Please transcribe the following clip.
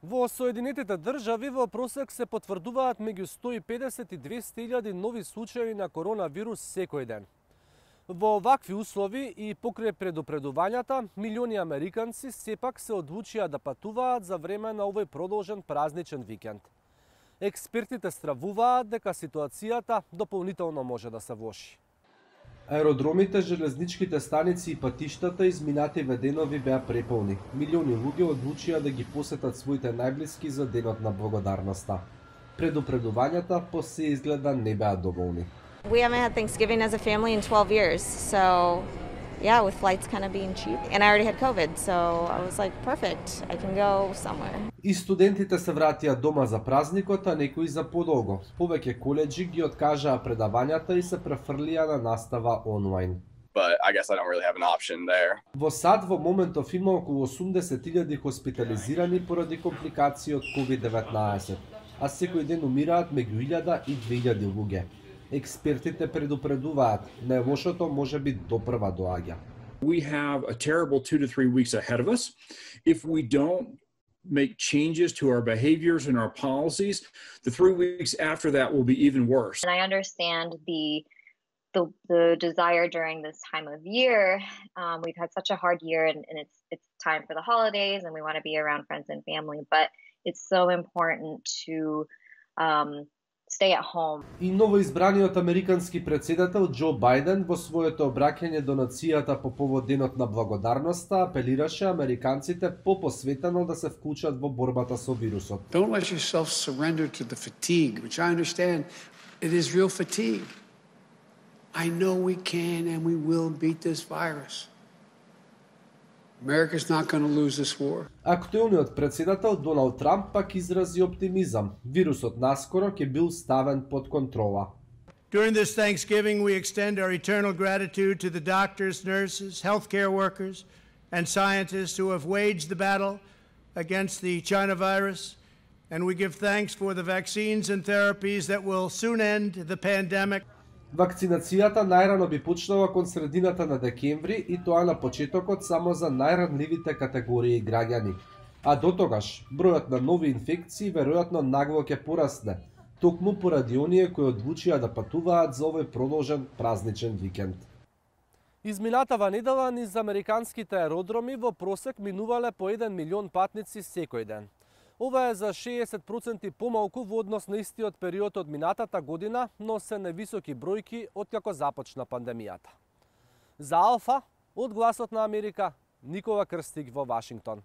Во Соединетите држави во просек се потврдуваат меѓу 150 и 200.000 нови случаи на коронавирус секој ден. Во овакви услови и покрај предупредувањата, милиони американци сепак се одлучија да патуваат за време на овој продолжен празничен викенд. Експертите стравуваат дека ситуацијата дополнително може да се влоши. Аеродромите, железничките станици и патиштата изминативе денови беа преполни. Милиони луѓе одлучија да ги посетат своите најблиски за денот на благодарноста. Предупредувањата по се изгледа не беа доволни. We haven't had Thanksgiving as a family in 12 years, so yeah, with flights kind of being cheap. And I already had COVID, so I was like, perfect, I can go somewhere. И студентите се вратија дома за празникот, а некои за подолго. Повеќе колеџи ги откажаа предавањата и се префрлија на настава онлайн. But I guess I don't really have an option there. Во САД во моментов има околу 80.000 хоспитализирани поради компликации од COVID-19, а секој ден умираат меѓу 1000 и 2000 луѓе. Експертите предупредуваат, најлошото можеби допрва доаѓа. We have a terrible 2 to 3 weeks ahead of us. If we don't make changes to our behaviors and our policies, the 3 weeks after that will be even worse. And I understand the desire during this time of year. We've had such a hard year, and it's time for the holidays, and we want to be around friends and family. But it's so important to stay at home. И новоизбраниот американски председател Џо Бајден во своето обраќање до нацијата по повод денот на благодарноста апелираше американците попосветено да се вклучат во борбата со вирусот. Don't let yourself surrender to the fatigue, which I understand it is real fatigue. I know we can and we will beat this virus. America's not going to lose this war. Актуелниот председател Доналд Трамп пак изрази оптимизам. Вирусот наскоро ќе бил ставен под контрола. During this Thanksgiving, we extend our eternal gratitude to the doctors, nurses, healthcare workers, and scientists who have waged the battle against the China virus, and we give thanks for the vaccines and therapies that will soon end the pandemic. Вакцинацијата најрано би почнала кон средината на декември и тоа на почетокот само за најранливите категории граѓани. А дотогаш, бројот на нови инфекции веројатно нагло ќе порасне, токму поради оние кои одлучија да патуваат за овој продолжен празничен викенд. Изминатава недела низ американските аеродроми во просек минувале по 1 милион патници секој ден. Ова е за 60% помалку во однос на истиот период од минатата година, но се невисоки бројки откако започна пандемијата. За Алфа, од Гласот на Америка, Никола Крстик во Вашингтон.